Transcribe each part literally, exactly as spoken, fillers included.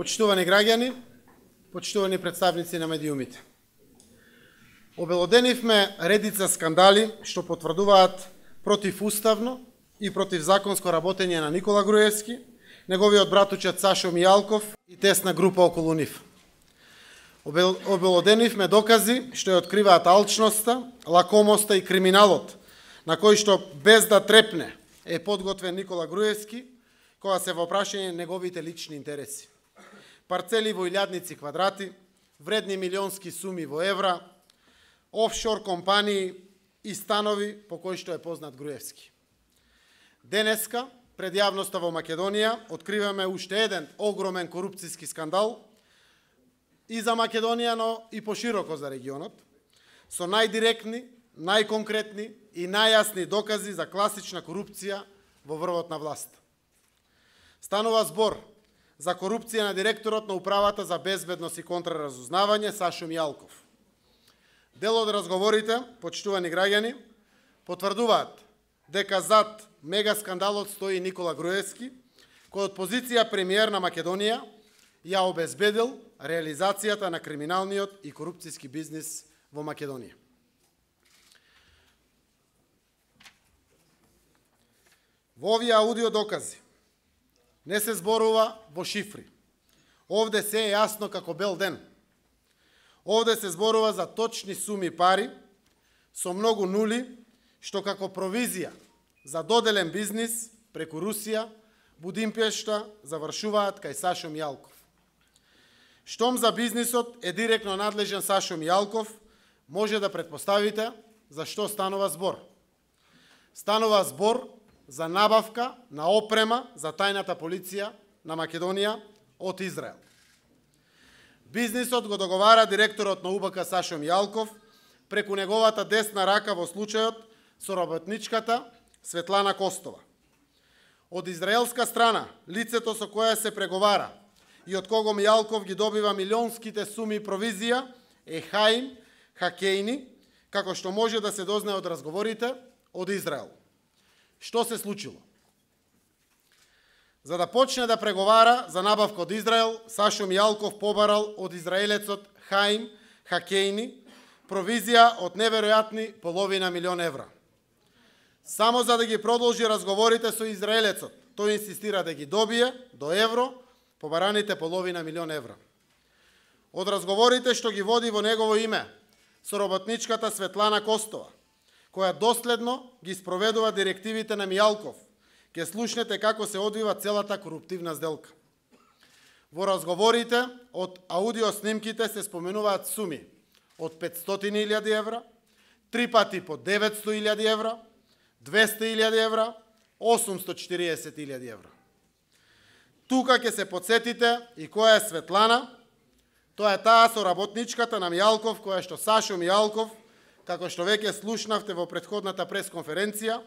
Почитувани граѓани, почитувани представници на медиумите. Обелоденивме редица скандали што потврдуваат противуставно и противзаконско работење на Никола Груевски, неговиот братучет Сашо Мијалков и тесна група околу нив. Обелоденивме докази што ја откриваат алчноста, лакомоста и криминалот, на кој што без да трепне е подготвен Никола Груевски, кога се во прашање неговите лични интереси. Парцели во илјадници квадрати, вредни милионски суми во евра, офшор компании и станови по кои што е познат Груевски. Денеска, пред јавноста во Македонија, откриваме уште еден огромен корупцијски скандал и за Македонија, но и пошироко за регионот, со најдиректни, најконкретни и најјасни докази за класична корупција во врвот на власт. Станува збор за корупција на директорот на Управата за безбедност и контраразузнавање Сашо Мијалков. Дел од разговорите, почитувани граѓани, потврдуваат дека зад мега скандалот стои Никола Груевски, кој од позиција премиер на Македонија ја обезбедил реализацијата на криминалниот и корупцијски бизнис во Македонија. Во овие аудио докази не се зборува во шифри. Овде се е јасно како бел ден. Овде се зборува за точни суми пари, со многу нули, што како провизија за доделен бизнис преку Русија, Будимпешта завршуваат кај Сашо Мијалков. Штом за бизнисот е директно надлежен Сашо Мијалков, може да претпоставите за што станува збор. Станува збор за набавка на опрема за тајната полиција на Македонија од Израел. Бизнисот го договара директорот на У Б К Сашо Мијалков преку неговата десна рака во случајот со работничката Светлана Костова. Од израелска страна, лицето со која се преговара и од кого Мијалков ги добива милионските суми провизија е Хаим Хакејни, како што може да се дознае од разговорите од Израел. Што се случило? За да почне да преговара за набавка од Израел, Сашо Мијалков побарал од израелецот Хаим Хакејни провизија од неверојатни половина милион евра. Само за да ги продолжи разговорите со израелецот, тој инсистира да ги добие до евро побараните половина милион евра. Од разговорите што ги води во негово име со работничката Светлана Костова, која доследно ги спроведува директивите на Мијалков, ќе слушнете како се одвива целата коруптивна сделка. Во разговорите од аудио снимките се споменуваат суми од петстотини илјади евра, три пати по деветсто илјади евра, двесте илјади евра, осумсто четириесет илјади евра. Тука ќе се подсетите и која е Светлана, тоа е таа соработничката на Мијалков, која што Сашо Мијалков, како што веќе слушнавте во претходната пресконференција,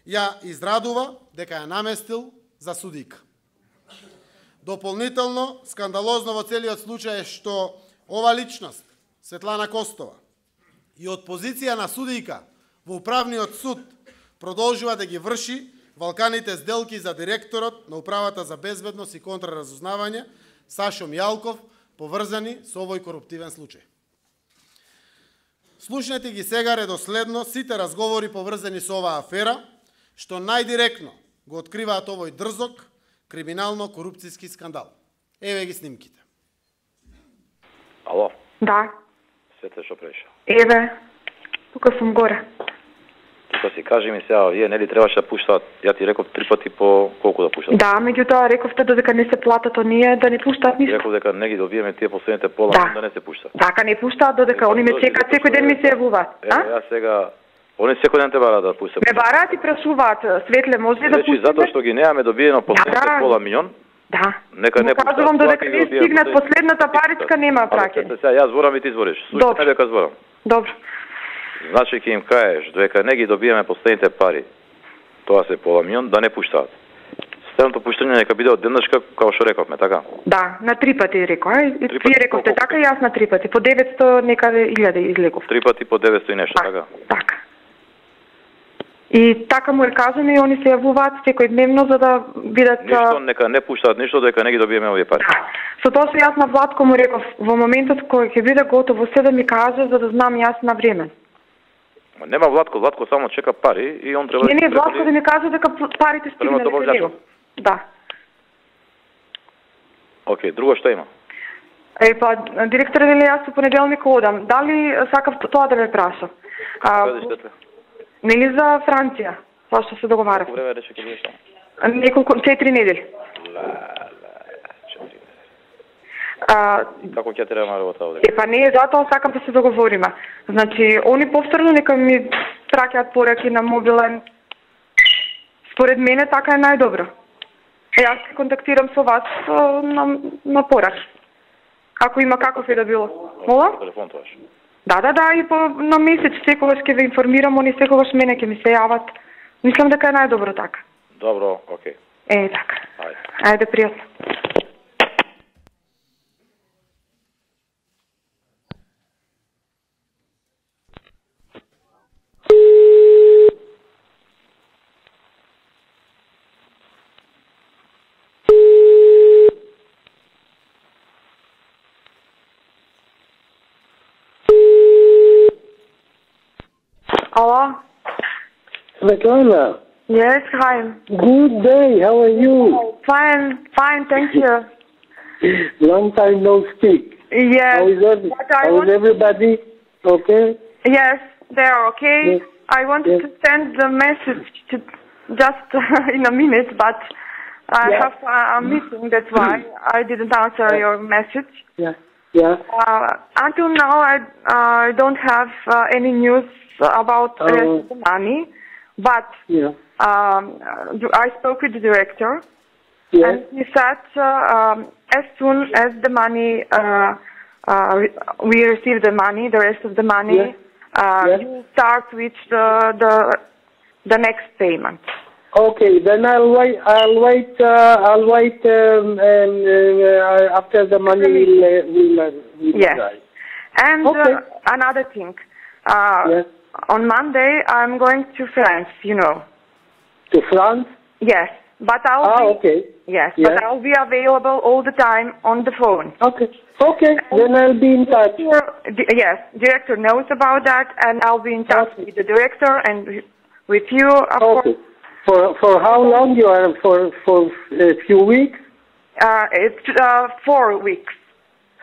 ја израдува дека ја наместил за судика. Дополнително, скандалозно во целиот случај е што ова личност, Светлана Костова, и од позиција на судика во управниот суд продолжува да ги врши валканите сделки за директорот на Управата за безбедност и контраразузнавање Сашо Мијалков, поврзани со овој коруптивен случај. Слушнете ги сега редоследно сите разговори поврзани со оваа афера, што најдиректно го откриваат овој дрзок, криминално-корупцијски скандал. Еве ги снимките. Ало? Да. Свете, што преша? Еве, тука сум горе. Тука си кажи ми сега, вие нели требаше да пуштаат, ја ти реков три пати по колку да пуштаат? Да, меѓутоа рековте додека не се платат оние да не пуштаат ништо. Реков дека не ги добиеме тие последните пола, да. да не се пуштаат. Така не пуштаат додека они ме чекаат, секој ден ми се јавуваат. Е, ја сега, они секој ден те бараат да пуштаат. Ме бараат и прашуваат, Светле, може ли да пуштите? Значи, затоа што ги немаме добиено последните да, пола милион, да. Нека не пуштаат. Кажувам додека не стигнат последната паричка, нема праќање. Сега јас зборам и ти збориш. Слушај дека зборам. Добро. Значи ќе им кажеш дека не ги добиеме последните пари, тоа се пола милион, да не пуштаат. Следното пуштање нека биде од денешка, како што рековме, така? Да, на три пати реков, ај. Ти рековте така, јас на три пати, по деветсто некаде илјади излегов. Три пати по деветсто и нешто, така? Така. И така му е кажано и они се јавуваат секојдневно за да бидат... Ништо, нека не пуштаат ништо, дека не ги добиеме овие пари. Со тоа се јас на Владко му реков, во моментот кој ќе биде готово се да ми каже, за да знам јас на време. Нема Владко, Владко само чека пари и он треба... Не, не, Владко да ми каже дека парите стигнале кај него. Да. Океј, друго што има? Е, па, директор, дали јас со понеделник одам. Дали сакав тоа да ме праша? Нели за Франција, тоа што се договарав. Колку време рече ќе бидеш таму? Неколку, четири недели. Ла, ла, четири недели. Како ќе треба на работа овде? Е, па не, затоа сакам да се договориме. Значи, они повторно нека ми праќаат пораки на мобилен. Според мене така е најдобро. Јас се контактирам со вас на, на пораки. Ако има каков е да било. Мола? Телефон тоа. Да, да, да, и по на месец секогаш ќе ве информирам, они секогаш мене ќе ми се јават. Мислам дека е најдобро така. Добро, окей. Е, така. Ајде. Ајде, пријатно. Hello? Svetlana. Yes, hi. Good day. How are you? Fine, fine, thank you. Long time no speak. Yes. How is, every, how want... is everybody? Okay? Yes, they're okay. Yes. I wanted yes. to send the message to just in a minute, but I yeah. have a, a meeting, that's why I didn't answer yeah. your message. Yeah. Yeah. Uh, until now, I I don't have uh, any news about uh, the money, but yeah. um, I spoke with the director, yes. and he said uh, um, as soon as the money, uh, uh, we receive the money, the rest of the money, yes. Uh, yes. you start with the, the the next payment. Okay, then I'll wait. I'll wait. Uh, I'll wait um, and, uh, after the money will uh, will, uh, will yes. arrive. And okay. uh, another thing. Uh, yes. On Monday, I'm going to France. You know. To France? Yes, but I'll. Ah, be, okay. Yes, yes. but I'll be available all the time on the phone. Okay. Okay. And then I'll be in touch. Yes, director knows about that, and I'll be in touch okay. with the director and with you. Of okay. course. For for how long you are? For for a few weeks? Uh, it's uh, four weeks.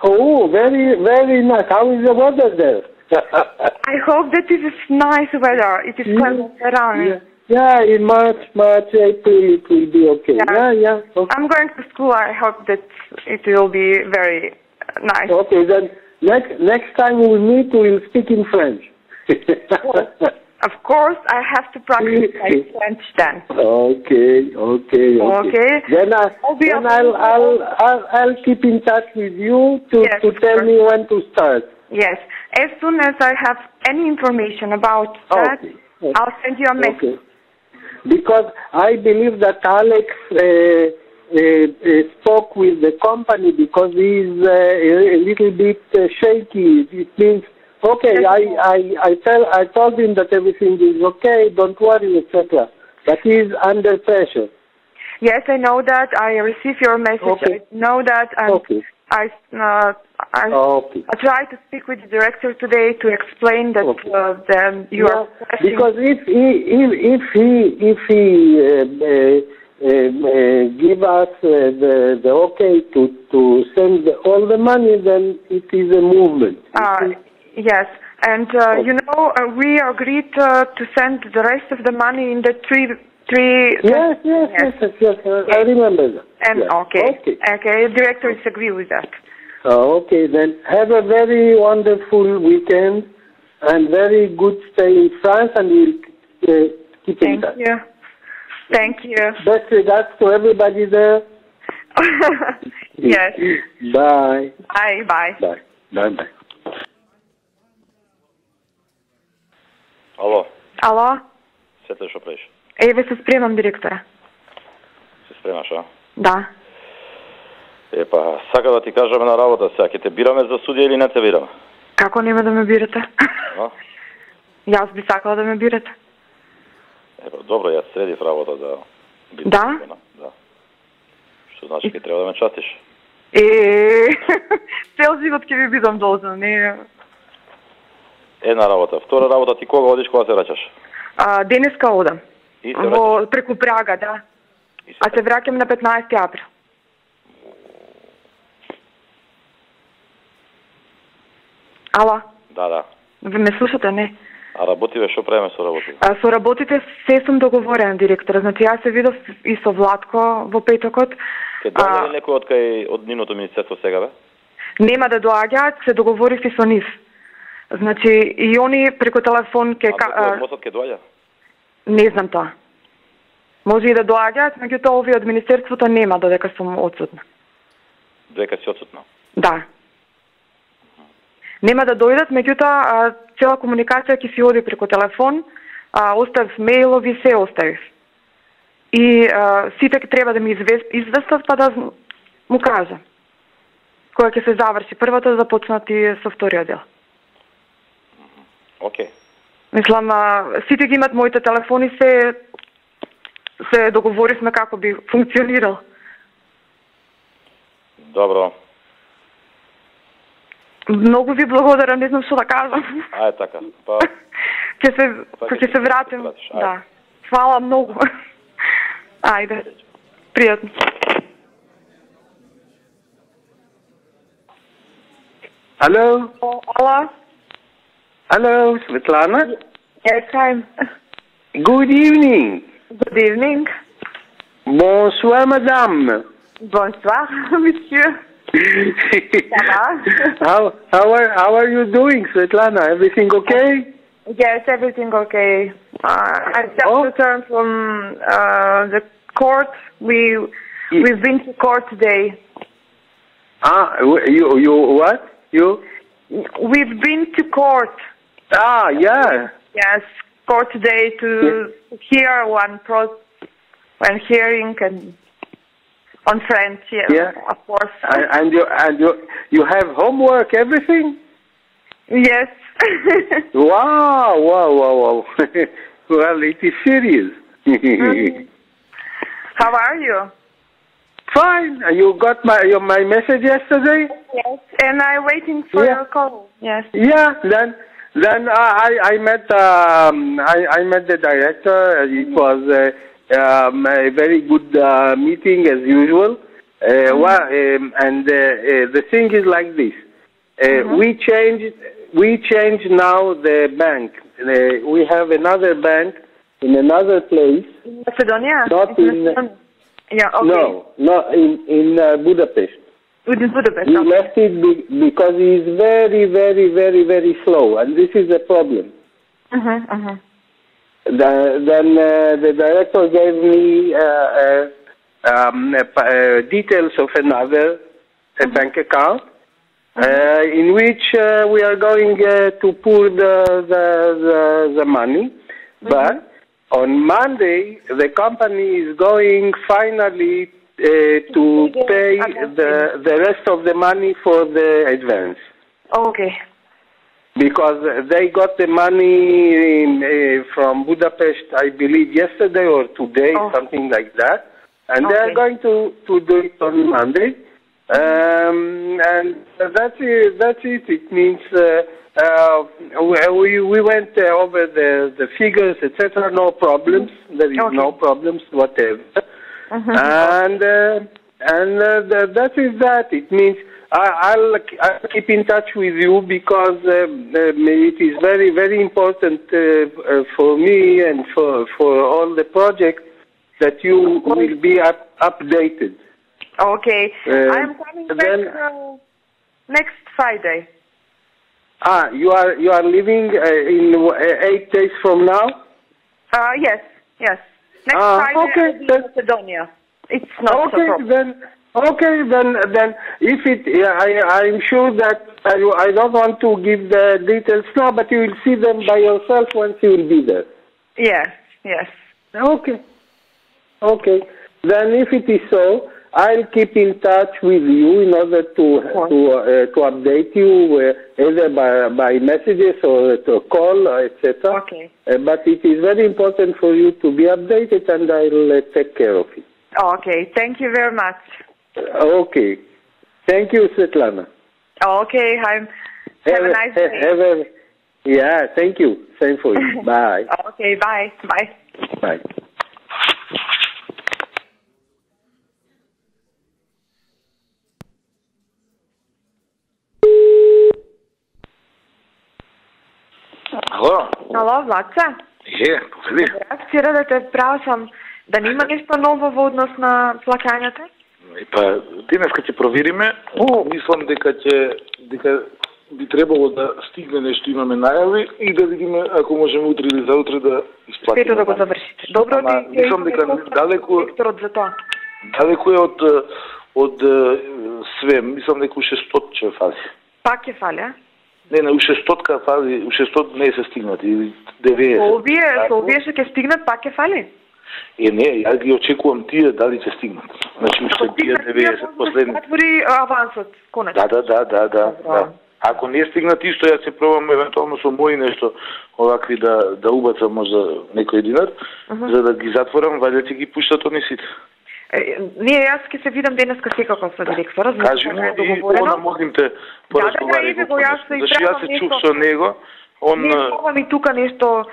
Oh, very very nice. How is the weather there? I hope that it is nice weather. It is pleasant around. Yeah. yeah, in March, March, April, it will be okay. Yeah, yeah. yeah. Okay. I'm going to school. I hope that it will be very nice. Okay, then next next time we meet, we will speak in French. Of course, I have to practice my French then. Okay, okay, okay. Okay. Then, I, I'll, be then I'll, I'll, I'll, I'll keep in touch with you to, yes, to tell course. me when to start. Yes. As soon as I have any information about that, okay. I'll send you a message. Okay. Because I believe that Alex uh, uh, uh, spoke with the company because he's uh, a little bit uh, shaky. It means, okay, I, I, I, tell, I told him that everything is okay, don't worry, et cetera. But he's under pressure. Yes, I know that. I received your message. Okay. I know that. And okay. I, uh, I, okay. I tried to speak with the director today to explain that okay. uh, then you yeah, are questioning. Because if he, if, if he, if he uh, uh, uh, give us uh, the, the okay to, to send all the money, then it is a movement. Uh, yes. And, uh, okay. you know, uh, we agreed uh, to send the rest of the money in the three... three yes, yes, yes, yes, yes, yes. I remember that. And, yes. okay. okay. Okay, the director is agree with that. Uh, okay, then have a very wonderful weekend and very good stay in France, and we'll uh, keep in touch. Thank you. Thank you. Best regards to everybody there. Yes. Bye. Bye, bye. Bye. Bye, bye. Ало. Ало. Сете што правиш? Еве се спремам, директора. Се спремаш, а? Да. Епа, сака да ти кажеме на работа сега, ќе те бираме за судија или не те бираме? Како нема да ме бирате? А? Јас би сакала да ме бирате. Епа, добро, јас средив работа да бидам Да? слободна. Да. Што значи ке треба да ме частиш? Е, цел живот ќе ви бидам должна, не. Една работа. Втора работа, ти кога одиш, кога се враќаш? А, денеска одам. И се Во враќаш? преку Прага, да. И се А се враќам на петнаесети април. Ала, Да, да. ви ме слушате, не? А работиве, што правиме со работи? А, со работите се сум договорена, директора. Значи, јас се видов и со Владко во петокот. Ке дојде ли некој од кај од нивното министерство сега, бе? Нема да доаѓаат, се договорив и со нив. Значи, и они преку телефон ке... А некој од МОС-от ке доаѓа? Не знам тоа. Може и да доаѓаат, меѓутоа овие од министерството нема додека сум отсутна. Дека си отсутна? Да. Нема да дојдат, меѓутоа цела комуникација ќе си оди преку телефон, а, оставив мејлови, се оставив. И а, сите ќе треба да ми известат, па да му кажа. Кога ќе се заврши првото, да започнат и со вториот дел. Океј. Мислам, а, сите ги имат моите телефони, се се договоривме како би функционирал. Добро. Многу ви благодарам, не знам што да кажам. Ајде така. Па Ќе се Па ќе ќе се се вратим. вратиш, ајде. Да. Фала многу. Ајде. Пријатно. Hello? Ала? Hello, Svetlana? Yes, hi. Good evening. Good evening. Bonsoir, madame. Bonsoir, monsieur. Ça va? how, how, are, how are you doing, Svetlana? Everything okay? Yes, everything okay. Uh, I just Oh. returned from uh, the court. We we've been to court today. Ah, you, you what? You? We've been to court. Ah, yeah. Yes, court today to hear one pro, one hearing and on French. Yes, Yeah. of course. And, and you and you you have homework, everything? Yes. Wow, wow, wow, wow. Well, it is serious. Mhm. How are you? Fine. You got my your, my message yesterday? Yes. And I'm waiting for Yeah. your call. Yes. Yeah. Then then uh, I I met um, I I met the director. It was uh, um, a very good uh, meeting as usual. Uh, Mm-hmm. well, um, and uh, uh, the thing is like this. Uh, Mm-hmm. We changed we changed now the bank. Uh, we have another bank in another place. Macedonia. Not It's in- Macedonia. Yeah. Okay. No, not in in uh, Budapest. Within Budapest. He Okay. left it be- because he is very, very, very, very slow, and this is a problem. Mhm. Mhm. The, then uh, the director gave me uh, uh, um, uh, uh, details of another a bank account, uh, in which uh, we are going uh, to pour the the, the, the money. But on Monday, the company is going finally uh, to pay the the rest of the money for the advance. Okay. Because they got the money in, uh, from Budapest, I believe, yesterday or today, Oh. something like that. And they are Okay. going to, to do it on Monday. Um, and that's it. That's it. It means uh, uh, we, we went uh, over the, the figures, et cetera. No problems. There is Okay. no problems whatever. Mhm. And uh, and uh, the, that is that. It means I, I'll, I'll keep in touch with you because uh, um, it is very, very important uh, uh, for me and for for all the projects that you will be up, updated. Okay. Uh, I'm coming back then- uh, next Friday. Ah, you are you are leaving uh, in uh, eight days from now. Uh, yes, yes. Next Ah, Friday okay, I'll be in then- Macedonia. It's not Okay, a problem. then okay, then then if it, yeah, I I'm sure that I, I don't want to give the details now, but you will see them by yourself once you will be there. Yes, yes. Okay, okay. Then if it is so, I'll keep in touch with you in order to to uh, to update you uh, either by by messages or to call, uh, et cetera. Okay. Uh, but it is very important for you to be updated, and I'll uh, take care of it. Okay, thank you very much. Uh, okay. Thank you, Svetlana. Okay, I'm, have, have a nice ha, day. Have a, yeah, thank you. Same for you. Bye. Okay, bye. Bye. Bye. Ало? Ало, Владче? Е, повели. Вчера да те прашам, да нема нешто ново во однос на плаќањата? Па, денеска ќе провериме. Мислам дека ќе дека би требало да стигне нешто, имаме најави и да видиме ако можеме утре или заутре да исплатиме. Пето да го завршите. Добро, Ама, ти мислам дека далеку директорот за тоа. далеку е од од све. Мислам дека у шестстотини ќе фази. Пак ќе фали, а? Не, не, у шестстотини фази, у шестстотини не се стигнати, или деветдесет. Со овие, со овие што ќе стигнат, пак ќе фали? Е, не, ја ги очекувам тие дали ќе стигнат. Значи, уште тие деветдесет последни. Отвори авансот, конец. Да, да, да, да, да, да. Ако не стигнат исто, ја се пробам евентуално со мои нешто овакви да да убацам можда некој динар, uh -huh. за да ги затворам, вајде ќе ги пуштат они сите. Ние јас ќе се видам денеска секако со директора, кажи му и она можем те поразговараме. Да, да, да, зашто јас се чув со него, он не мога ми тука нешто,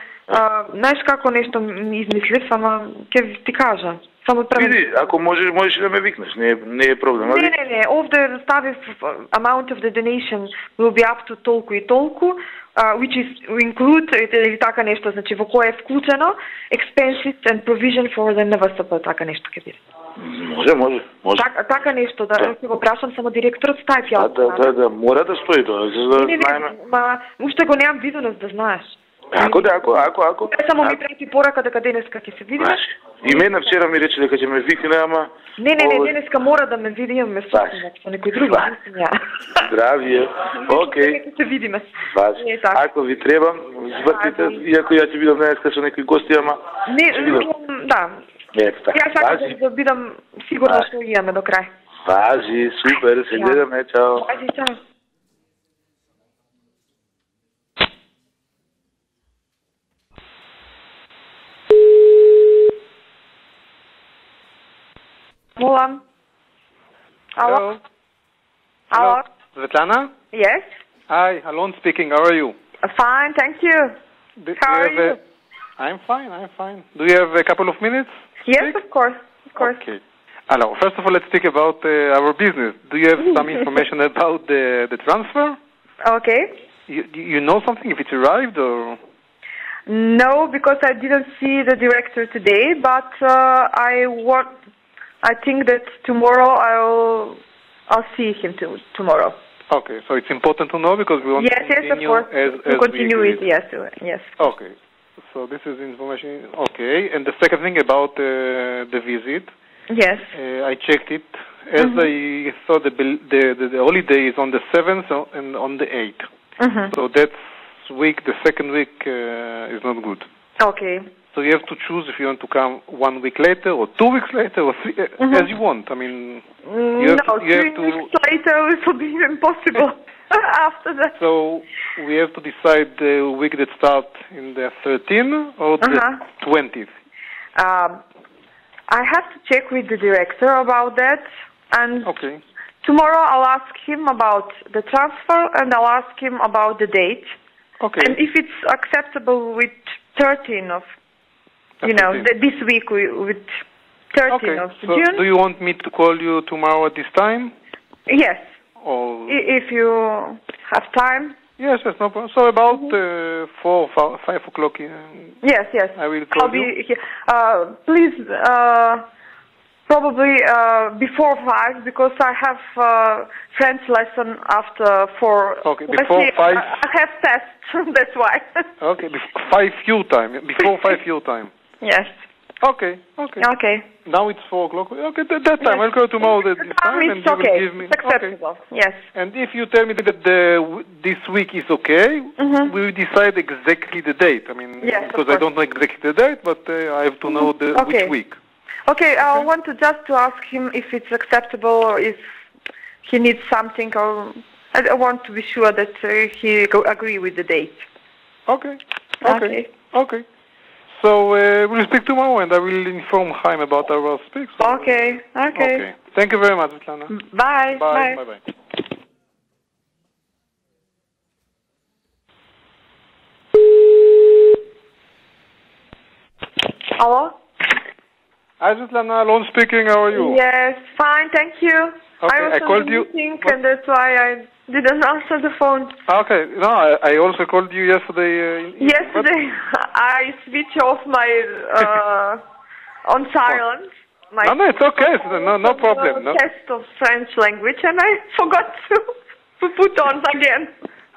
знаеш како нешто ми измислив, ама ќе ти кажа. Само Види, ако можеш, можеш да ме викнеш, не е, не е проблем. Не, не, не, овде ставив amount of the donation will be up to толку и толку, uh, which is include, или така нешто, значи во кое е вклучено, expenses and provision for the Н В С П, така нешто ќе биде. Може, може, може. Так, така нешто, да, ќе го прашам само директорот, стај ја. Да, да, да, да, мора да стои тоа, за да знаеме. Ма, уште го немам виденост, да знаеш. Ако, да, ако, ако, ако. Само ми прети порака дека денеска ќе се видиме. И мене вчера ми рече дека ќе ме викне, ама... Не, не, не, денеска мора да ме види, имаме сусрет со некој друг. Здравие. Окей. Ќе се видиме. Важи. Ако ви требам, извртите, иако ја ќе бидам денеска со некои гости, ама... Не, да. Ето така. Ја сакам да бидам сигурна што имаме до крај. Важи, супер, се гледаме, чао. Важи, чао. Молам. Hello. Hello. Hello. Svetlana? Yes. Hi, Alon speaking. How are you? Uh, fine, thank you. Do, How do are you? you? A, I'm fine, I'm fine. Do you have a couple of minutes? Yes, of course, of course. Okay. Alors, first of all, let's speak about uh, our business. Do you have some information about the, the transfer? Okay. You, you know something, if it's arrived or... No, because I didn't see the director today, but uh, I want... I think that tomorrow I'll I'll see him to, tomorrow. Okay, so it's important to know because we want yes, to continue yes, of course. as, as to continue we it, yes, yes. Okay, so this is information. Okay, and the second thing about uh, the visit. Yes. Uh, I checked it. As mm-hmm. I saw the, the the the holiday is on the seventh and on the eighth. Mm-hmm. So that's week. The second week uh, is not good. Okay. So you have to choose if you want to come one week later or two weeks later or three, mm-hmm. as you want. I mean, you have no, to, you three have to, weeks later it will be impossible after that. So we have to decide the week that starts in the thirteenth or the uh-huh. twentieth. Um, I have to check with the director about that, and okay. tomorrow I'll ask him about the transfer and I'll ask him about the date. Okay. And if it's acceptable with thirteenth of You know, th this week we, with thirteenth okay. of so June. Do you want me to call you tomorrow at this time? Yes. Or I, if you have time. Yes, yes, no problem. So about mm-hmm. uh, four, five, five o'clock. Uh, yes, yes. I will call I'll you. Be here. Uh, please, uh, probably uh, before five because I have uh, French lesson after four. Okay, before Actually, five. I have tests. That's why. Okay, five your time. Before five your time. Yes. Okay, okay. Okay. Now it's four o'clock. Okay, that, that time. Yes. I'll go tomorrow at this time it's and you okay. will give me... It's acceptable, okay. Yes. And if you tell me that the, this week is okay, mm-hmm. we will decide exactly the date. I mean, yes, because I don't know exactly the date, but uh, I have to know the okay. which week. Okay, I want to just to ask him if it's acceptable or if he needs something, or I I want to be sure that uh, he go agree with the date. Okay. Okay. Okay. So uh, we'll speak tomorrow, and I will inform Chaim about our speak. So Okay, okay. Okay. Thank you very much, Svetlana. Bye. Bye. Bye. Bye. Hello? Hi, Svetlana. Alon speaking. How are you? Yes, fine, thank you. Okay, I was I on called the you- meeting, what? and that's why I didn't answer the phone. Okay. No, I, I also called you yesterday. Uh, in- Yesterday, I switched off my uh, on silent. My No, no, it's okay. It's no, no problem. No. Test of French language, and I forgot to, to put on again.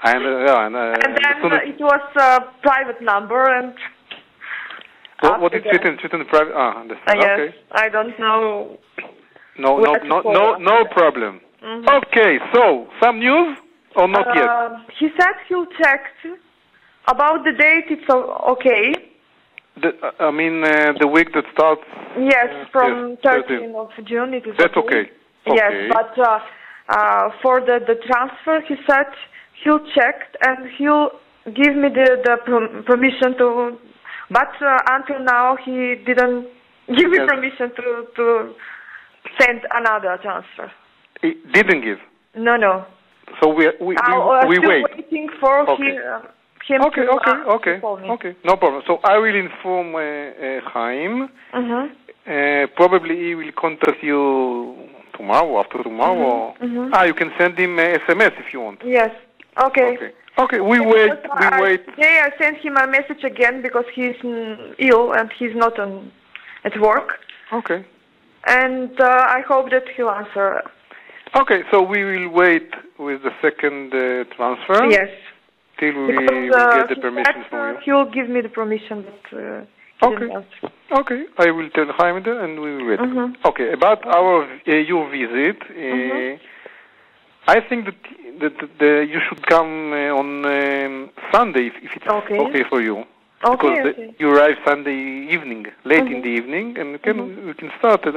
And, uh, yeah, and, uh, And then as soon as- it was a private number, and what, what after is it in, that- it in private? Ah, understand. uh, yes, Okay. I don't know. No, no, Where to no, call no, after no that. problem. Mhm. Okay. So, some news or not yet? Uh, he said he'll check about the date. It's o- okay. The, uh, I mean, uh, the week that starts. Yes, Uh, from yes, thirteenth of June it is That's okay. Yes, Okay. but uh, uh, for the, the transfer, he said he'll check and he'll give me the, the prom- permission to, but uh, until now he didn't give me Yes. permission to, to send another transfer. He didn't give. No, no. So we we we, I'm uh, we still wait. waiting for Okay. he, uh, him Okay, to, okay, uh, okay, to call me. okay. No problem. So I will inform uh, uh, Chaim. Mm-hmm. Uh, probably he will contact you tomorrow, after tomorrow. mhm. Ah, you can send him a S M S if you want. Yes. Okay. Okay. Okay. We wait. Because We I- wait. Today I sent him a message again because he's mm, ill and he's not on at work, Okay. and uh, I hope that he'll answer. Okay. So we will wait with the second uh, transfer. Yes, Till we because will uh, get the he permission said, from uh, you. he'll give me the permission, but uh, he Okay. didn't answer. Okay, I will tell Chaim that and we will wait. Mhm. Okay, about our uh, your visit, uh, Mhm. I think that that, that the, you should come uh, on um, Sunday if, if it's Okay. okay for you. Okay, Because the, okay. you arrive Sunday evening, late in Mhm. the evening, and we can we can start uh,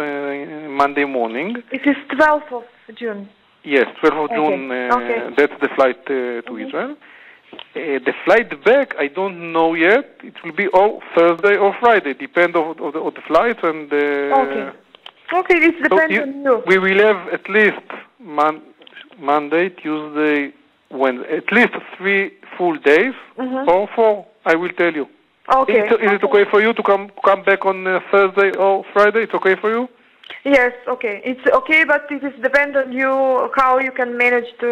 Monday morning. It is twelfth of June. Yes, twelfth of Okay, June. Uh, okay. That's the flight uh, to Israel. Uh, the flight back, I don't know yet. It will be all Thursday or Friday, depend of, of, the, of the flights and. Uh, Okay. Okay, it So depends you- on you. We will have at least mon- Monday, Tuesday, Wednesday, at least three full days Mhm. or four. I will tell you. Okay. Is, it- is it okay for you to come come back on uh, Thursday or Friday? It's okay for you? Yes, okay. It's okay, but it is depend on you how you can manage to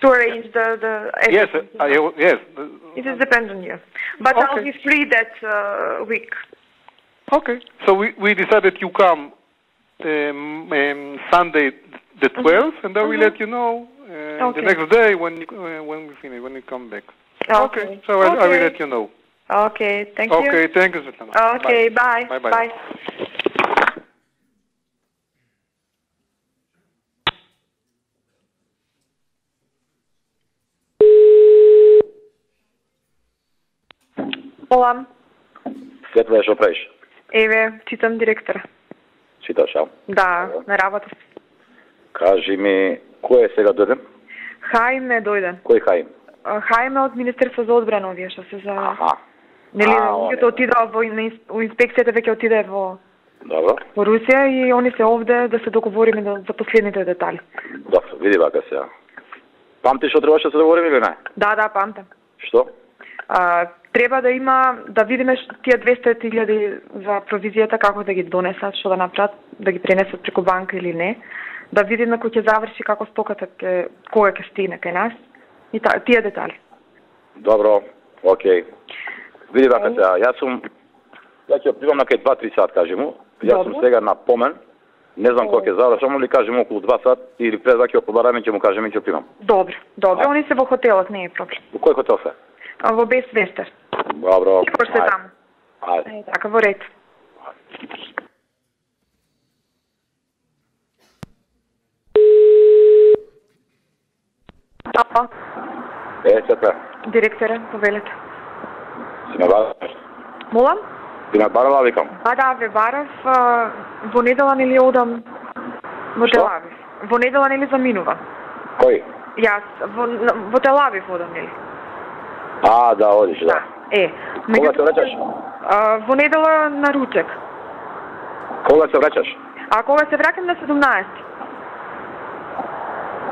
to arrange the the. Yes, uh, everything, I, you know. yes. It is depend on you. But I'll Okay. be free that uh, week. Okay. So we, we decided you come um, um, Sunday the twelfth, and I will Mhm. let you know uh, Okay. the next day when you, uh, when we finish when you come back. Okay. So I, I will Okay. let you know. Okay, thank you. Okay. Thank you, Svetlana. Okay, bye. Bye. Bye. Bye. Олам, Светле, што правиш? еве, читам директора. Читаш, а? Да, на работа. Кажи ми, кој е сега дојден? Хаим е дојден. Кој Хаим? А, Хаим е од Министерство за одбрана, овие што се за... Аха. Нели, А, луѓето он е. отидоа во на инс- у инспекцијата, веќе отиде во Добро. во Русија и они се овде да се договориме да- за последните детали. Добро, види вака сега. Памти што требаше да се договориме или не? Да, да, памтам. Што? А, треба да има, да видиме ш- тие двесте илјади за провизијата, како да ги донесат, што да направат, да ги пренесат преку банка или не. Да видиме кој ќе заврши, како стоката ќе, кога ќе стигне кај нас. И та, тие детали. Добро, окей. Види вака сега, јас сум, ја ќе отидам на кај два-три сат, кажи му. Јас сум Добро. сега на помен. Не знам кога ќе завршам, али кажи му околу два сат или пред да ќе побараме, ќе му кажеме ќе отидам. Добро, добро. А. Они се во хотелот, не е проблем. Во кој хотел се? А, во Бест Вестер. Добро. Сигур се ајде. таму. Ајде. Е, така, во ред. Ало, Е, Светле, директоре, повелете. си ме вадиш? Молам? Ти ме барала, викам. А да, ве барав, а, во недела нели одам во Што? Телавив. Во недела нели заминува. Кој? Јас во, во Телавив одам нели. А, да, одиш, да. Да. Е, Кога се враќаш? а, во недела на ручек. Кога се враќаш? А кога се враќам на седумнаесети.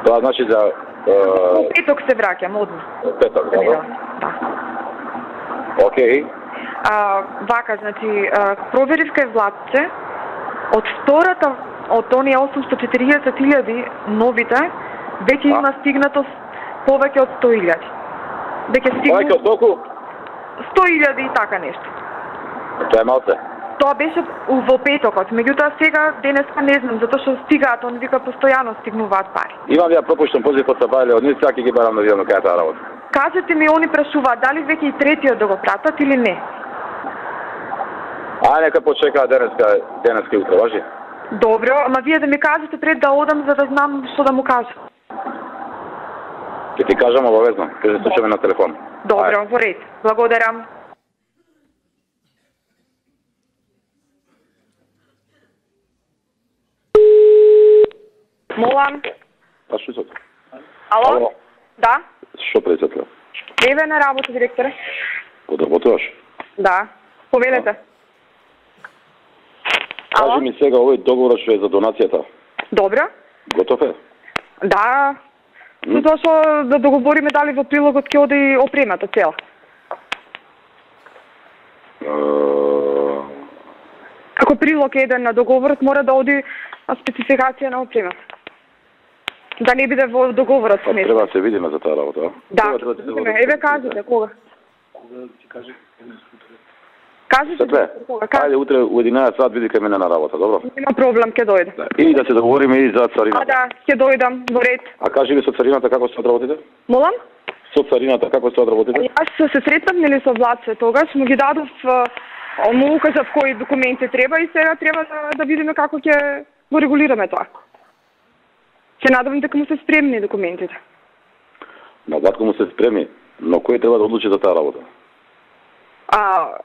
Тоа значи за Во е, петок се враќам одма. петок, добро. Да. Океј. А, вака, значи, а, проверив кај Владче, од втората, од оние осумстотини и четириесет илјади новите, веќе има стигнато с- повеќе од сто илјади. Веќе Мајка, стигнато толку? сто илјади и така нешто. Тоа е малце. Тоа беше у- во петокот, меѓутоа сега денеска не знам, затоа што стигаат, он вика постојано стигнуваат пари. Имам ја пропуштен позив од Сабајле, од нив сега ќе ги барам да видам на кај е таа работа. Кажете ми, они прашуваат дали веќе и третиот да го пратат или не. А нека почекаат денеска, денеска и утре, важи? Добро, ама вие да ми кажете пред да одам за да знам што да му кажам. Ќе ти кажам обавезно, ќе се слушаме на телефон. Добро, во ред. Благодарам. Молам. Па што се? Ало? Ало. Да? Што председател? Еве на работа, директоре. Подработуваш? Да. Повелете. Ало? Кажи ми сега овој договор што е за донацијата. Добро. Готов е? Да. Затоа што да договориме дали во прилогот ќе оди и опремата цела. Е, Како прилог еден на договорот мора да оди спецификација на опремата. Да не биде во договорот Па нешто. треба да се видиме за таа работа, а? Да. Кога треба да се видиме? Еве кажете кога. Кажете Светле, кога. Кажете. ајде утре у единаесет сат види кај мене на работа, добро? Нема проблем, ќе дојдам. Да. И да се договориме и за А царината. да, ќе дојдам во ред. А кажи ми со царината како се одработите? Молам? Со царината како се одработите? Јас се сретнав нели со Владче тогаш, му ги дадов, а, му укажав кои документи треба и сега треба да, да видиме како ќе го регулираме тоа. Се надевам дека му се спремни документите. На батко му се спреми, но кој треба да одлучи за таа работа? А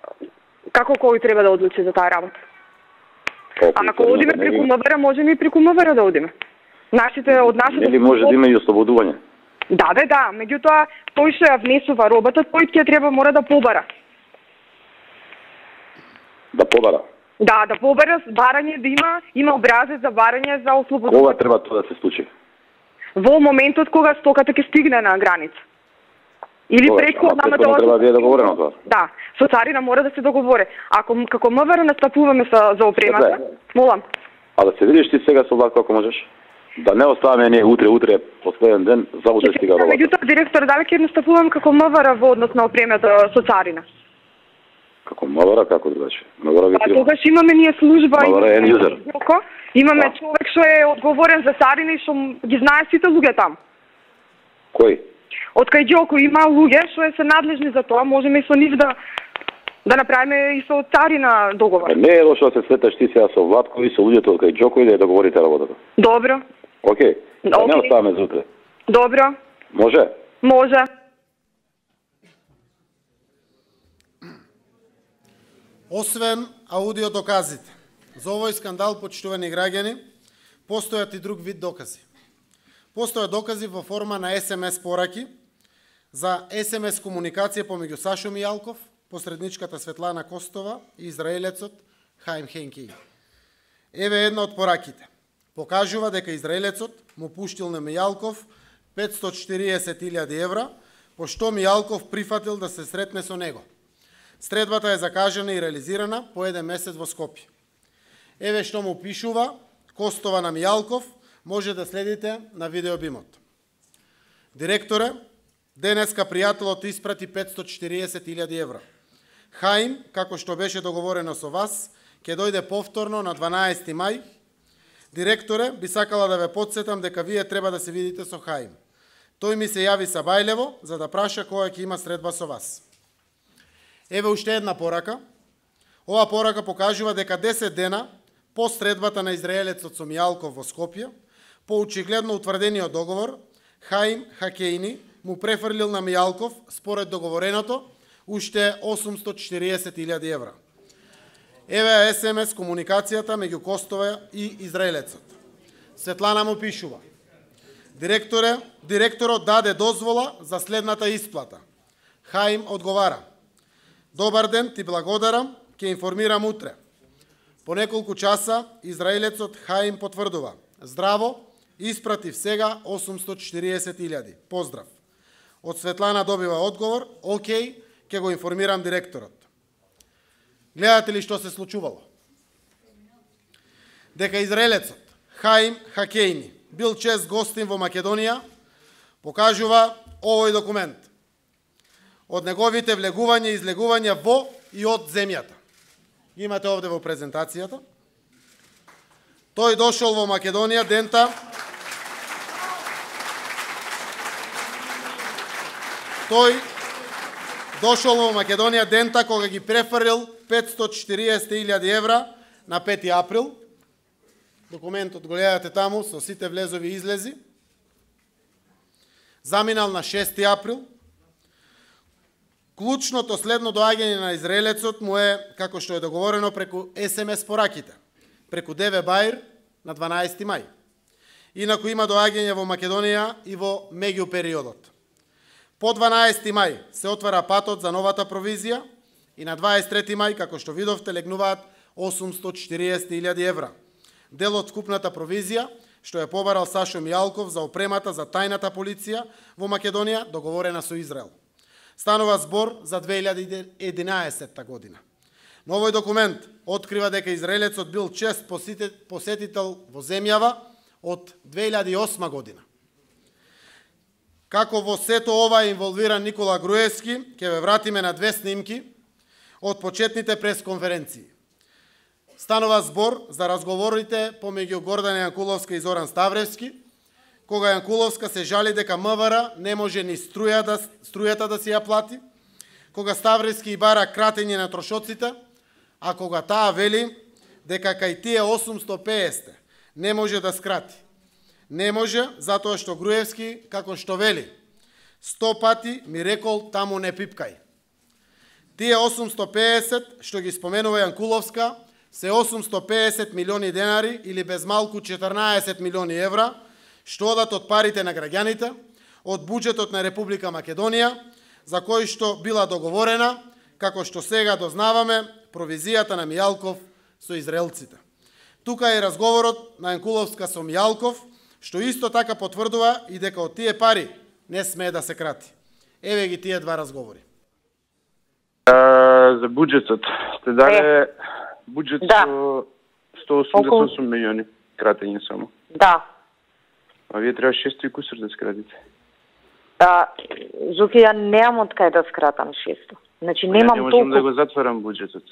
како кој треба да одлучи за таа работа? Па, А ако одиме нели- преку МВР, можеме и преку МВР да одиме. Нашите од нашите Нели може да има и ослободување? Да, бе, да, меѓутоа тој што ја внесува робата, тој ќе треба мора да побара. Да побара. Да, да побара барање, да има има образец за барање за ослободување. Кога треба тоа да се случи? Во моментот кога стоката ќе стигне на граница. Или Тогаш, преку ама претходно треба да биде договорено тоа. Да, со царина мора да се договори. Ако како МВР настапуваме со за опремата, Добре. молам. А да се видиш ти сега со влак како можеш? Да не оставаме ние утре, утре, последен ден, за утре стига робата. Меѓутоа директор, дали ќе настапувам како МВР во однос на опремата со царина? Како МВР, како другачи? МВР ги А има. тогаш имаме ние служба, МВР е имаме user. Јоко, имаме Да. човек што е одговорен за царина и што м- ги знае сите луѓе там. Кој? Од кај Ѓоко има луѓе што е се надлежни за тоа, можеме и со нив да да направиме и со царина договор. Е, не е лошо да се среташ ти сега со Владко и со луѓето од кај Ѓоко и да ја договорите работата. Добро, Океј. Да не Океј. оставаме за утре. добро, Може? може. Освен аудиодоказите, за овој скандал, почитувани граѓани, постојат и друг вид докази. Постојат докази во форма на ес ем ес пораки, за ес ем ес комуникација помеѓу Сашо Мијалков, посредничката Светлана Костова и израелецот Хаим Хенки. Еве една од пораките. Покажува дека израелецот му пуштил на Мијалков петстотини и четириесет илјади евра, пошто Мијалков прифатил да се сретне со него. Средбата е закажана и реализирана по еден месец во Скопје. Еве што му пишува Костова на Мијалков, може да следите на видеобимот. Директоре, денеска пријателот испрати петстотини и четириесет илјади евра. Хаим, како што беше договорено со вас, ќе дојде повторно на дванаесети мај. Директоре, би сакала да ве потсетам дека вие треба да се видите со Хаим. Тој ми се јави Сабајлево за да праша кога ќе има средба со вас. Еве уште една порака. Ова порака покажува дека десет дена по средбата на израелецот со Мијалков во Скопје, по очигледно утврдениот договор, Хаим Хакејни му префрлил на Мијалков, според договореното, уште осумстотини и четириесет илјади евра. Еве ја ес ем ес комуникацијата меѓу Костова и израелецот. Светлана му пишува: Директоре, директорот даде дозвола за следната исплата. Хаим одговара: Добар ден, ти благодарам, ќе информирам утре. По неколку часа израелецот Хаим потврдува: Здраво, испратив сега осумстотини и четириесет илјади. Поздрав. Од Светлана добива одговор: Океј, ќе го информирам директорот. Гледате ли што се случувало? Дека израелецот Хаим Хакејни бил чест гостин во Македонија, покажува овој документ од неговите влегувања и излегувања во и од земјата. Имате овде во презентацијата. Тој дошол во Македонија дента Тој дошол во Македонија дента кога ги префрлил петстотини и четириесет илјади евра на пети април. Документот го гледате таму со сите влезови и излези. Заминал на шести април. Клучното следно доаѓање на израелецот му е, како што е договорено, преку ес ем ес пораките, преку ДВ Баир на дванаести мај. Инаку има доаѓање во Македонија и во меѓу периодот. По дванаести мај се отвара патот за новата провизија и на дваесет и трети мај, како што видовте, легнуваат осумстотини и четириесет илјади евра. Дел од вкупната провизија, што е побарал Сашо Мијалков за опремата за тајната полиција во Македонија, договорена со Израел. Станува збор за две илјади и единаесетта година. Но овој документ открива дека израелецот бил чест посетител во земјава од две илјади и осма година. Како во сето ова е инволвиран Никола Груевски, ќе ве вратиме на две снимки од почетните пресконференции. Станува збор за разговорите помеѓу Гордана Јанкуловска и Зоран Ставревски, кога Јанкуловска се жали дека М В Р не може ни струја да, струјата да си ја плати, кога Ставревски и бара кратење на трошоците, а кога таа вели дека кај тие осумстотини и песет не може да скрати. Не може, затоа што Груевски, како што вели, сто пати ми рекол таму не пипкај. Тие осумстотини и песет што ги споменува Јанкуловска се осумстотини и песет милиони денари или без малку четрнаесет милиони евра, што одат од парите на граѓаните, од буџетот на Република Македонија, за кој што била договорена, како што сега дознаваме, провизијата на Мијалков со израелците. Тука е разговорот на Јанкуловска со Мијалков, што исто така потврдува и дека од тие пари не смее да се крати. Еве ги тие два разговори. А, за буџетот сте дали буџет да. со сто осумдесет и осум милиони кратење само. Да. А вие треба шесто и кусур да скратите. А, Зуки, ја немам од кај да скратам шесто. Значи немам толку. Не можам да го затворам буџетот.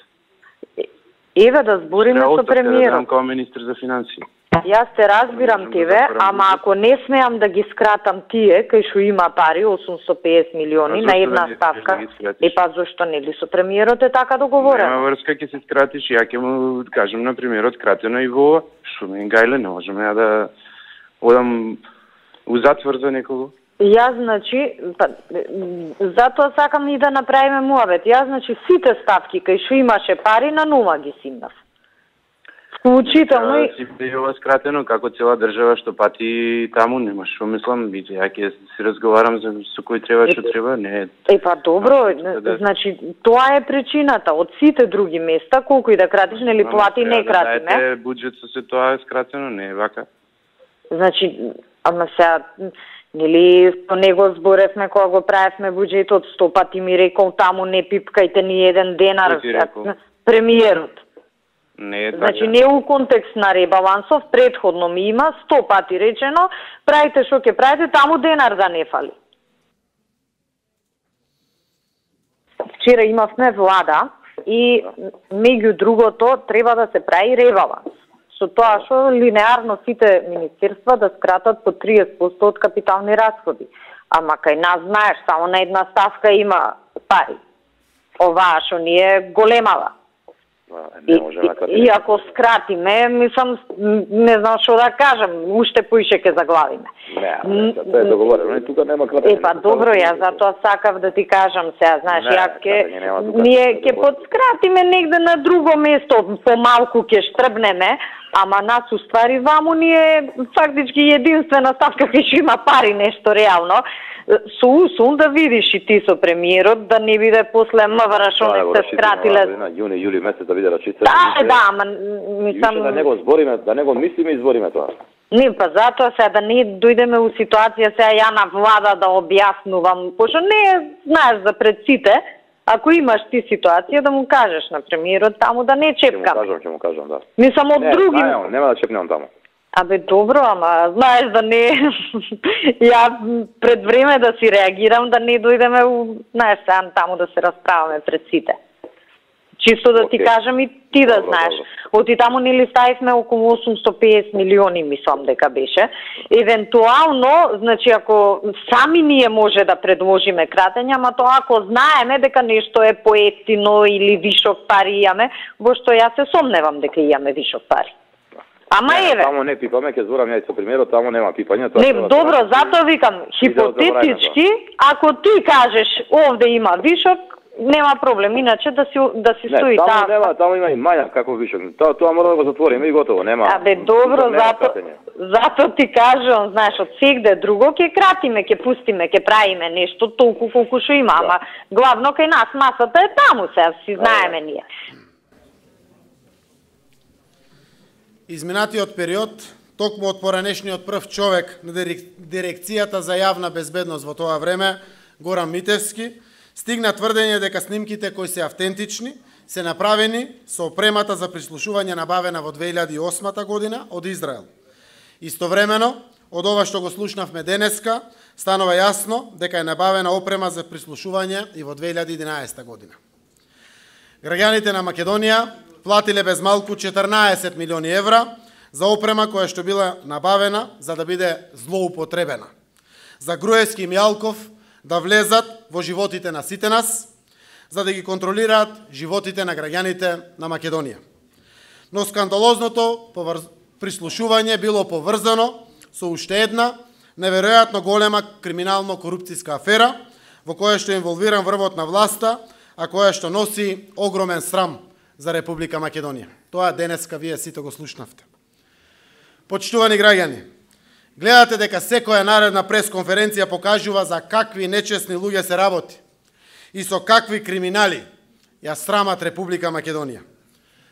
Еве да збориме со премиерот. Да како министр за финансии. Јас те разбирам тебе, да ама ако не смеам да ги скратам тие, кај што има пари, осумстотини и песет милиони на една да ставка, е па зошто не ли со премиерот е така договорено? Нема врска, ќе се скратиш, ја ќе му кажам на премиерот кратено и во Шумен Гајле, не можеме ја да одам у затвор за некого. Јас, значи, па, затоа сакам и да направиме муабет. Јас, значи, сите ставки кај што имаше пари, на нула ги симнав. Вклучително и... Си би ова скратено, како цела држава што пати таму, нема шо мислам, бите, ја ќе си разговарам за со кој треба, што треба, не... Е, па добро, да... значи, тоа е причината. Од сите други места, колку и да кратиш, нели плати, не крати, не? Да, буџет со се тоа е скратено, не е вака. Значи, ама сега, нели, со него зборевме кога го правевме буџетот, сто пати ми рекол таму не пипкајте ни еден денар, премиерот. Не е така. Значи, не у контекст на ребалансов, предходно ми има сто пати речено, правите што ќе правите, таму денар да не фали. Вчера имавме влада и меѓу другото треба да се прави ребаланс. Со тоа што линеарно сите министерства да скратат по триесет проценти од капитални расходи. Ама кај нас, знаеш, само на една ставка има пари. Оваа што ни е големава. Не можеме да и, и ако скратиме, мислам, не знам што да кажам, уште поише ке заглавиме. Не, тоа е договорено, и тука нема кратење. Е, па добро, ја затоа сакав да ти кажам сега, знаеш, ја ке, ние ке подскратиме негде на друго место, помалку ке штрбнеме, ама нас уствари ваму ние фактички единствена ставка кај што има пари, нешто реално. Со усум да видиш и ти со премиерот, да не биде после МВР што не се скратиле. На јуни, јули месец да биде рачица. Да, да, ама мислам... Да не го збориме, да не го мислиме и збориме тоа. Не, па затоа сега да не дојдеме у ситуација сега ја на влада да објаснувам, пошто не знаеш за пред сите, ако имаш ти ситуација да му кажеш на премиерот таму да не чепкам. Ќе му кажам, ќе му кажам, да. Мислам од други... Не, нема да чепнем таму. Абе, добро, ама знаеш да не... ја пред време да си реагирам, да не дојдеме, у... знаеш, сега таму да се расправаме пред сите. Чисто да okay. ти кажам и ти да добро, знаеш. Добро. Оти таму нели ставивме околу осумсто и песет милиони, мислам дека беше. Евентуално, значи ако сами ние може да предложиме кратење, ама тоа ако знаеме дека нешто е поевтино или вишок пари имаме, во што ја се сомневам дека имаме вишок пари. Ама не, еве. Таму не пипаме, ќе зборам ја и со примерот, таму нема пипање. Не, добро, затоа викам, хипотетички, ако ти кажеш овде има вишок, нема проблем, иначе да си да си стои таму. таму нема, таму има и мања како вишок. Тоа тоа мора да го затвориме и готово, нема. Абе, добро, зато зато ти кажам, знаеш, од сегде друго ќе кратиме, ќе пустиме, ќе правиме нешто толку колку што има, ама главно кај нас масата е таму, сега си знаеме ние. Изминатиот период, токму од поранешниот прв човек на Дирекцијата за јавна безбедност во тоа време, Горан Митевски, стигна тврдење дека снимките кои се автентични се направени со опремата за прислушување набавена во две илјади и осма година од Израел. Истовремено, од ова што го слушнавме денеска, станува јасно дека е набавена опрема за прислушување и во две илјади и единаесета година. Граѓаните на Македонија платиле без малку четрнаесет милиони евра за опрема која што била набавена за да биде злоупотребена. За Груевски и Мјалков да влезат во животите на сите нас, за да ги контролираат животите на граѓаните на Македонија. Но скандалозното поврз... прислушување било поврзано со уште една неверојатно голема криминално-корупцијска афера во која што инволвиран врвот на власта, а која што носи огромен срам за Република Македонија. Тоа денеска вие сите го слушнавте. Почитувани граѓани, гледате дека секоја наредна пресконференција покажува за какви нечесни луѓе се работи и со какви криминали ја срамат Република Македонија.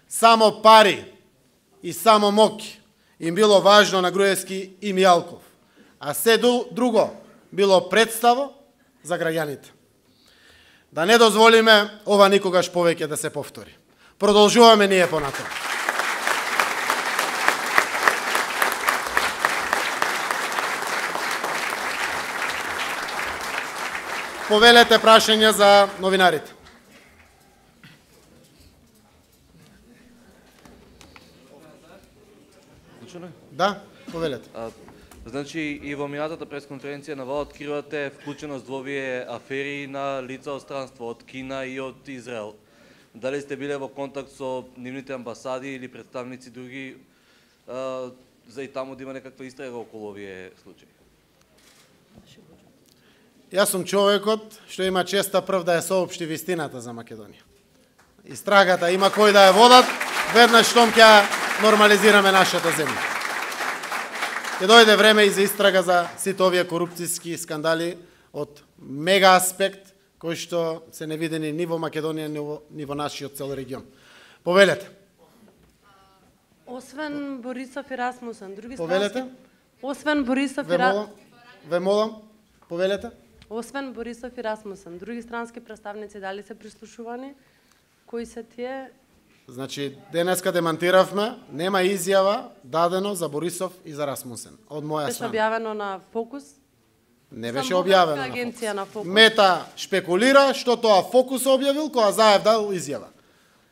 Само пари и само моќ им било важно на Груевски и Мјалков, а се друго било представо за граѓаните. Да не дозволиме ова никогаш повеќе да се повтори. Продолжуваме ние понатаму. Повелете прашања за новинарите. Да, повелете. А, значи и во минатата пресконференција на ВА откривате вклученост во овие афери на лица од странство од Кина и од Израел. Дали сте биле во контакт со нивните амбасади или представници други а, за и таму да има некаква истрага околу овие случаи? Јас сум човекот што има честа прв да ја соопшти вистината за Македонија. Истрагата има кој да ја водат, веднаш штом ќе нормализираме нашата земја. Ќе дојде време и за истрага за сите овие корупцијски скандали од мега аспект, кои што се невидени ни во Македонија, ни во, ни во нашиот цел регион. Повелете. Освен Борисов и Расмусен, други Повелете. странски... Освен Борисов Ве и Ра... молам, ве молам, повелете. Освен Борисов и Расмусен, други странски представници дали се прислушувани? Кои се тие? Значи, денеска демантиравме, нема изјава дадено за Борисов и за Расмусен. Од моја Беше страна. објавено на Фокус? Не беше Само објавено на агенција на Фокус. Фокус. Мета шпекулира што тоа Фокус објавил, кога Заев дал изјава.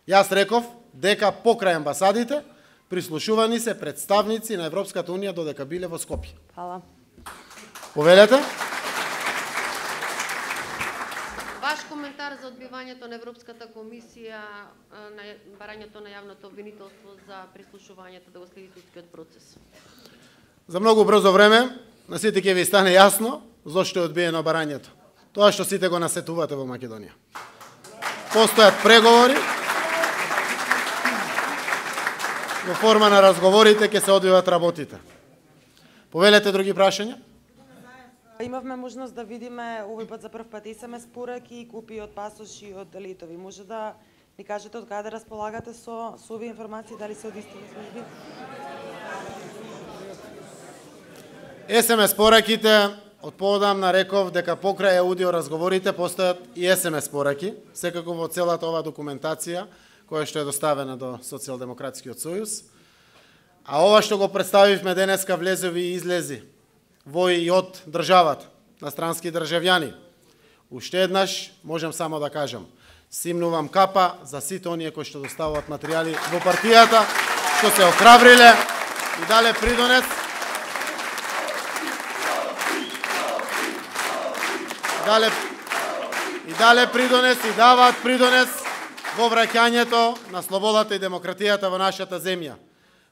Јас реков дека покрај амбасадите прислушувани се представници на Европската Унија додека биле во Скопје. Фала. Повелете? Ваш коментар за одбивањето на Европската комисија на барањето на јавното обвинителство за прислушувањето да го следи судскиот процес? За многу брзо време на сите ќе ви стане јасно зошто е одбиено барањето. Тоа што сите го насетувате во Македонија. Постојат преговори, во форма на разговорите ќе се одвиват работите. Повелете други прашања? Имавме можност да видиме овој пат за прв пат ес ем ес пораки, купи од пасоши од летови. Може да ни кажете од каде располагате со, со овие информации, дали се од истите служби? ес ем ес пораките, од поодамна реков дека покрај аудио разговорите постојат и ес ем ес пораки, секако во целата ова документација која што е доставена до Социјалдемократскиот сојуз. А ова што го представивме денеска влезови и излези во и од државата, на странски државјани. Уште еднаш можам само да кажам, симнувам капа за сите оние кои што доставуваат материјали во партијата, што се охрабриле и дале придонес дале и дале придонес и даваат придонес во враќањето на слободата и демократијата во нашата земја.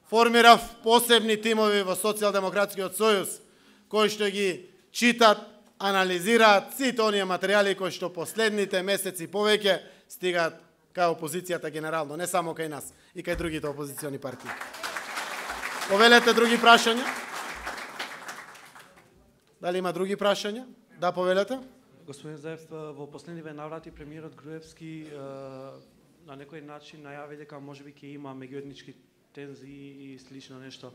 Формирав посебни тимови во Социјалдемократскиот сојуз кои што ги читат, анализираат сите оние материјали кои што последните месеци повеќе стигаат кај опозицијата генерално, не само кај нас, и кај другите опозициони партии. Повелете други прашања? Дали има други прашања? Да, повелете. Господин Заев, во последниве наврати премиерот Груевски на некој начин најави дека можеби ќе има меѓуетнички тензии и слично нешто.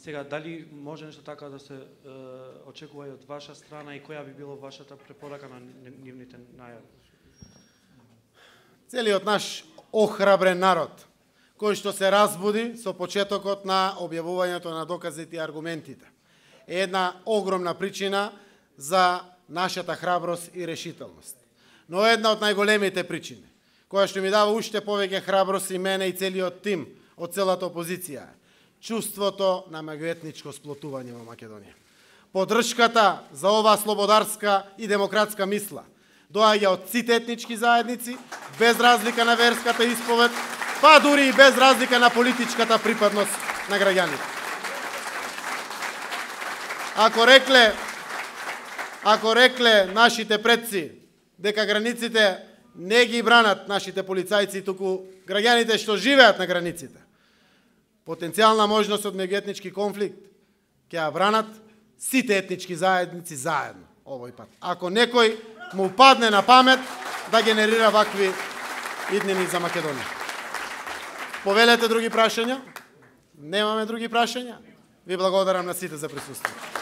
Сега, дали може нешто така да се е, очекува и од ваша страна и која би било вашата препорака на нивните најави? Целиот наш охрабрен народ, кој што се разбуди со почетокот на објавувањето на доказите и аргументите, е една огромна причина за нашата храброст и решителност. Но една од најголемите причини, која што ми дава уште повеќе храброст и мене и целиот тим од целата опозиција, чувството на меѓуетничко сплотување во Македонија. Поддршката за оваа слободарска и демократска мисла доаѓа од сите етнички заедници, без разлика на верската исповед, па дури и без разлика на политичката припадност на граѓаните. Ако рекле, ако рекле нашите предци дека границите не ги бранат нашите полицајци, туку граѓаните што живеат на границите, потенцијална можност од меѓуетнички конфликт ќе ја бранат сите етнички заедници заедно овој пат. Ако некој му падне на памет да генерира вакви иднини за Македонија. Повелете други прашања? Немаме други прашања? Ви благодарам на сите за присуство.